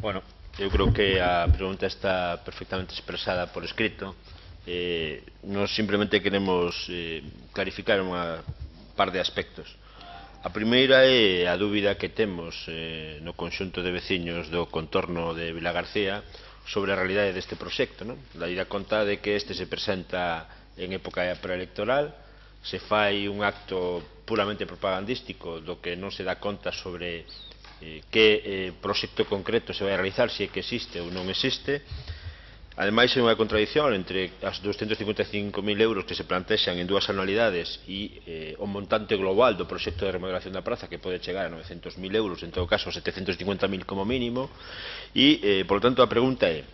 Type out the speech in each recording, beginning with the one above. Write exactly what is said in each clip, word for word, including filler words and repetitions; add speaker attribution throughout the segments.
Speaker 1: Bueno, eu creo que a pregunta está perfectamente expresada por escrito. Eh, nos simplemente queremos eh, clarificar unha par de aspectos. A primeira é a dúbida que temos eh, no conxunto de veciños do contorno de Vilagarcía sobre a realidade deste proxecto, non? Da ida conta de que este se presenta en época preelectoral, se fai un acto puramente propagandístico do que non se dá conta sobre eh, que eh, proxecto concreto se vai a realizar, se é que existe ou non existe. Ademais, é unha contradición entre as doscientos cincuenta e cinco mil euros que se plantexan en dúas anualidades e eh, o montante global do proxecto de remodelación da praza, que pode chegar a novecentos mil euros, en todo caso setecentos cincuenta mil como mínimo. E, eh, por lo tanto, a pregunta é: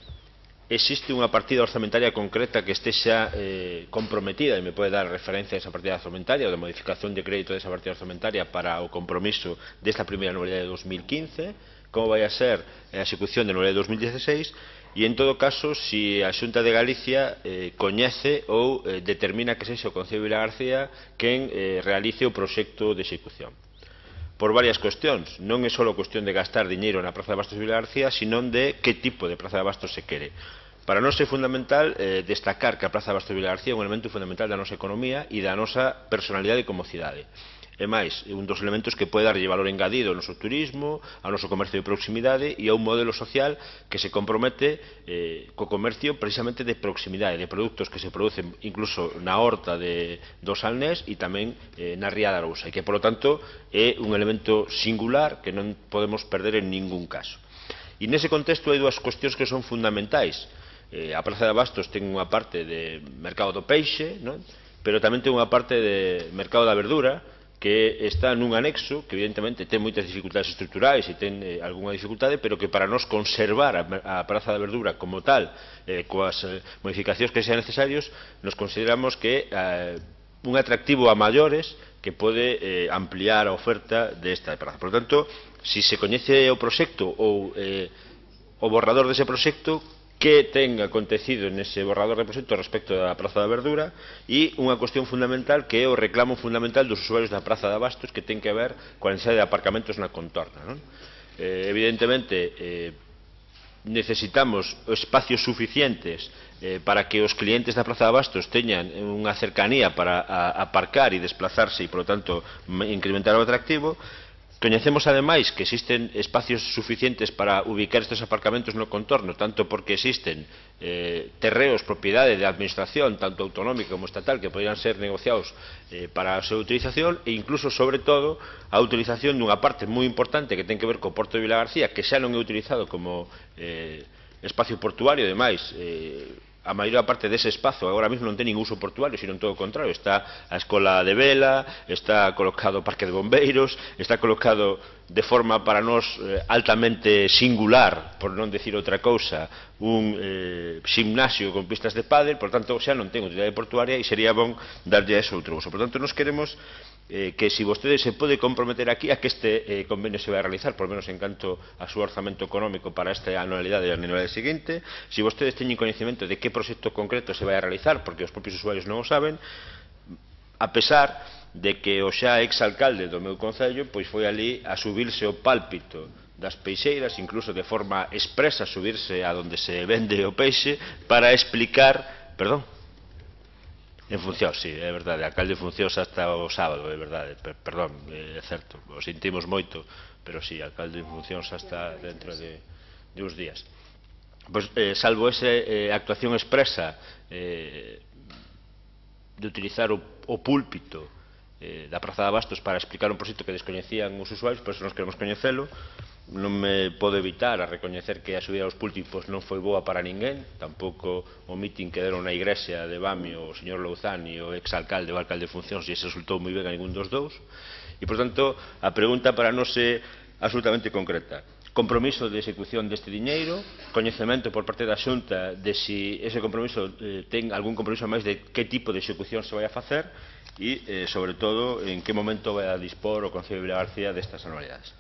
Speaker 1: existe unha partida orzamentaria concreta que estexa eh, comprometida, e me pode dar referencia a esa partida orzamentaria ou de modificación de crédito desa partida orzamentaria para o compromiso desta primeira anualidade de dos mil quince? Como vai a ser a execución da anualidade de dos mil dieciséis? E, en todo caso, se a Xunta de Galicia eh, coñece ou eh, determina que sexa o Concello de Vilagarcía quen eh, realice o proxecto de execución. Por varias cuestións. Non é só cuestión de gastar diñeiro na Praza de Abastos de Vilagarcía, sino de que tipo de Praza de Abastos se quere. Para nós é fundamental eh, destacar que a Praza de Abastos de Vilagarcía é un elemento fundamental da nosa economía e da nosa personalidade como cidade. E máis, é un dos elementos que pode darlle valor engadido ao noso turismo, ao noso comercio de proximidade e a un modelo social que se compromete eh, co comercio precisamente de proximidade, de produtos que se producen incluso na horta de, do Salnés e tamén eh, na Ría de Arousa, e que, por lo tanto, é un elemento singular que non podemos perder en ningún caso. E nese contexto hai dúas cuestións que son fundamentais. Eh, a Praza de Abastos ten unha parte de mercado do peixe, non? Pero tamén ten unha parte de mercado da verdura, que está nun anexo que evidentemente ten moitas dificultades estruturais e ten eh, algunha dificultade, pero que para nos conservar a, a Praza da Verdura como tal, eh, coas eh, modificacións que sean necesarios, nos consideramos que eh, un atractivo a maiores que pode eh, ampliar a oferta desta praza. Por lo tanto, se si se coñece o proxecto ou eh, o borrador dese proxecto, que ten acontecido nese borrador de proxecto respecto da Praza da Verdura, e unha cuestión fundamental que é o reclamo fundamental dos usuarios da Praza de Abastos, que ten que ver coa necesidade de aparcamentos na contorna, non? Eh, evidentemente eh, necesitamos espacios suficientes eh, para que os clientes da Praza de Abastos teñan unha cercanía para a, aparcar e desplazarse e, por lo tanto, incrementar o atractivo. Coñecemos, ademais, que existen espacios suficientes para ubicar estes aparcamentos no contorno, tanto porque existen eh, terreos, propiedade de administración, tanto autonómica como estatal, que poderían ser negociados eh, para a súa utilización, e incluso, sobre todo, a utilización dunha parte moi importante que ten que ver co Porto de Vilagarcía, que xa non é utilizado como eh, espacio portuario. Ademais, eh, a maior parte dese espazo agora mesmo non ten ningún uso portuario, sino todo o contrario. Está a escola de vela, está colocado o parque de bombeiros, está colocado de forma para nós eh, altamente singular, por non decir outra cousa, un eh, gimnasio con pistas de pádel. Por tanto, xa non ten utilidade portuaria e sería bon darlle a eso outro uso. Por tanto, nos queremos eh, que se vostede se pode comprometer aquí a que este eh, convenio se vai a realizar, por menos en canto a súa orzamento económico para esta anualidade e a anualidade seguinte, se vostedes teñen coñecemento de que proxecto concreto se vai a realizar, porque os propios usuarios non o saben, a pesar de que o xa exalcalde do meu concello pois foi ali a subirse o pálpito das peixeiras, incluso de forma expresa subirse a donde se vende o peixe para explicar, perdón, en función, sí, é verdade, alcalde en función hasta o sábado, é verdade, per, perdón, é certo, o sentimos moito, pero sí, alcalde en función hasta dentro de, de uns días. Pois, eh, salvo esa eh, actuación expresa eh, de utilizar o, o púlpito eh, da Praza de Abastos para explicar un proxecto que descoñecían os usuarios, por eso nos queremos coñecelo. Non me podo evitar a recoñecer que a subida aos púlpitos non foi boa para ninguén, tampouco o mitin que deron na igrexa de Bamio o señor Louzán e o exalcalde ou alcalde de funcións, e se resultou moi ben a ningún dos dous. E, por tanto, a pregunta para nós é absolutamente concreta: compromiso de execución deste diñeiro, coñecemento por parte da Xunta de se ese compromiso eh, ten algún compromiso máis de que tipo de execución se vai a facer, e, eh, sobre todo, en que momento vai a dispor o Concello de Vilagarcía destas anualidades.